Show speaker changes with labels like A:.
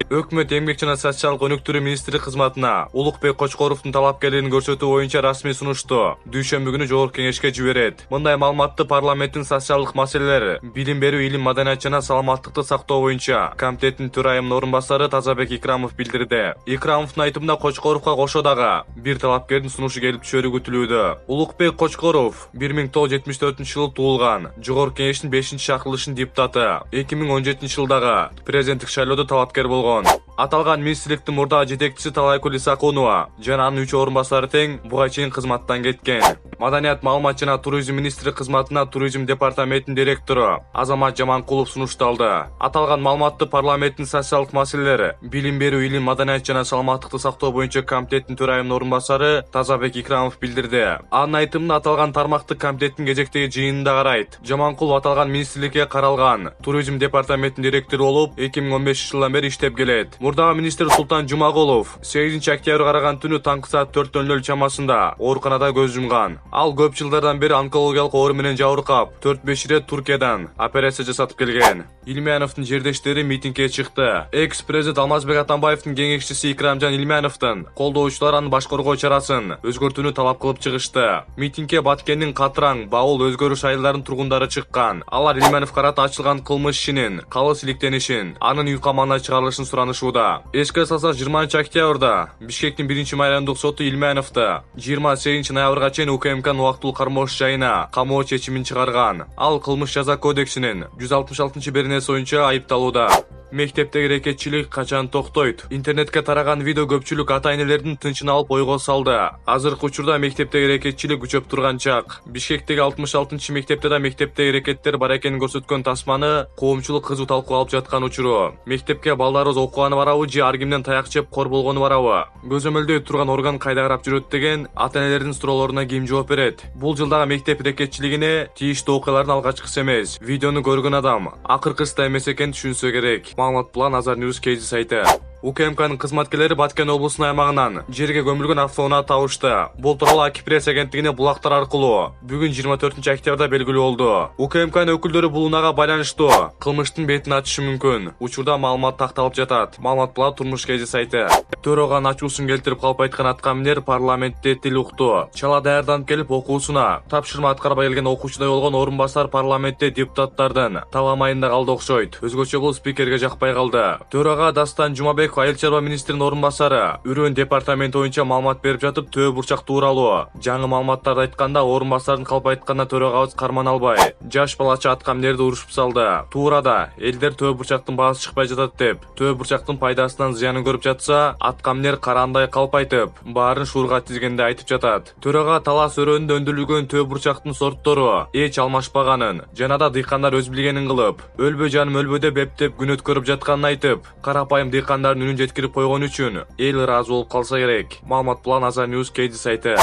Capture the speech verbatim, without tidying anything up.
A: Өкмөт эмгек жана социалдык өнүктүрүү министри кызматына Улукбек Кочкоровдун талапкерлигин көрсөтүү боюнча расмий сунушту дүйшөмбү күнү жогорку кеңешке жиберет. Мындай маалыматты парламенттин социалдык маселелер, билим берүү, илим, маданият жана саламаттыкты сактоо боюнча комитеттин төрайымынын орун басары Тазабек Икрамов билдирди. Икрамовдун айтымында Кочкоровго кошо дагы бир талапкердин сунушу келип түшөрү күтүлүүдө. Улукбек Кочкоров бир миң тогуз жүз жетимиш төртүнчү жылы туулган, жогорку кеңештин бешинчи шакырылышынын депутаты. эки миң он жетинчи жылдагы президенттик шайлоодо талапкер болгон. Аталган министрликтин мурдагы жетекчиси Талайкүл Исакунова жана анын үч орун басары тең буга чейин кызматтан кеткен. Маданият, маалымат жана туризм министри кызматына туризм департаментинин директору Азамат Жаманкулов сунушталды. Аталган маалыматты парламенттин социалдык маселелер, билим берүү, илим, маданият жана саламаттыкты сактоо боюнча комитеттин төрайымынын орун басары Тазабек Икрамов билдирди. Анын айтымында аталган тармакты комитеттин кезектеги жыйынында карайт. Жаманкулов аталган министрликке каралган туризм департаментинин директору болуп эки миң он бешинчи жылдан бери иштеп келет. Мурдагы министр Султан Жумагулов сегизинчи октябрь караган түнү таңкы саат төрт нөл нөл чамасында ооруканада көз жумган. Ал көп жылдардан бери онкологиялык оору менен жабыркап, төрт беш ирет Туркиядан операция жасатып келген. Илмяновдун жердештери митингге чыкты. Экс-президент Алмазбек Атамбаевдин кеңешчиси Икрамжан Илмяновдун колдоочулары анын башкаргоо чарасын өзгөртүүнү талап кылып чыгышты. Митингге Баткендин Катраң, Баул, Өзгөрүш айылдарынын тургундары чыккан. Алар Илмяновго карата ачылган кылмыш ишинин калыс иликтенишин, анын үй камагына чыгарылышын суранышууда. Эске салсак, жыйырманчы октябрда Бишкектин биринчи майрамдык соту Илмяновду жыйырма сегизинчи ноябрга чейин УКМКнын убактылуу кармоош жайына камоо чечимин чыгарган. Ал кылмыш жаза кодексинин жүз алтымыш алтынчы беренеси боюнча айыпталууда. Мектептеги эрекетчилик качан токтойт? Интернетке тараган видео көпчүлүк ата-энелердин тынчын алып ойго салды. Азыркы учурда мектептеги эрекетчилик күчөп турган чак. Бишкектеги алтымыш алтынчы мектепте да мектептеги эрекеттер бар экенин көрсөткөн тасманы коомчулук кызуу талкууга алып жаткан учуру. Мектепке балдарыбыз окуганы барабы же ар кимден таяк жеп кор болгону барабы? Көзөмөлдөй турган орган кайда карап жүрөт деген ата-энелердин суроолоруна ким жооп берет? Бул жылдагы мектеп эрекетчилигине тийиштүү окуялардын алгачкысы эмес. Видеону көргөн адам акыркысы да эмес экенин түшүнсө керек. Маалымат План Азар Ньюс Кейзи сайты. УКМКнын кызматкерлери Баткен облусунун аймагынан жерге көмүлгөн автоунаа табышты. Бул тууралуу Акипресс агенттигине булактар аркылуу бүгүн жыйырма төртүнчү октябрда белгилүү болду. УКМКнын өкүлдөрү бул унаага байланыштуу кылмыштын бетин ачышы мүмкүн. Учурда маалымат такталып жатат. Маалымат План Турмуш Кейзи сайты. Төрөган ачуусун келтирип калп айткан аткаминер парламентте тил укту. Чала даярданып келип окуусуна тапшырма аткарбай келген окуучудай болгон орун басар парламентте депутаттардын таламайында калды окшойт. Өзгөчө бул спикерге жакпай калды. Төрага Дастан Жумабек Айыл чарба министринин орун басары Үрөн департаменти боюнча маалымат берип жатып, төө бурчак тууралуу жаңы маалыматтарды айтканда орун басардын калп айтканына төрөгабыз карман албай жаш балача аткаминерди урушуп салды. Туурада элдер төө бурчактын баасы чыкпай жатат деп, төө бурчактын пайдасынан зыянын көрүп жатса, аткаминер караандай калп айтып, баарын шуурга тизгенде айтып жатат. Төрага талас өрөөнүндө өндүрүлгөн төө бурчактын сорттору эч алмашпаганын жана да дыйкандар өз билгенин кылып, өлбө жаным өлбө деп эптеп күн өткөрүп жатканын айтып, карапайым дыйкандардын үнүн жеткирип койгон үчүн эл ыраазы болуп калса керек. Маалымат План Азар Ньюс Кейзи сайты.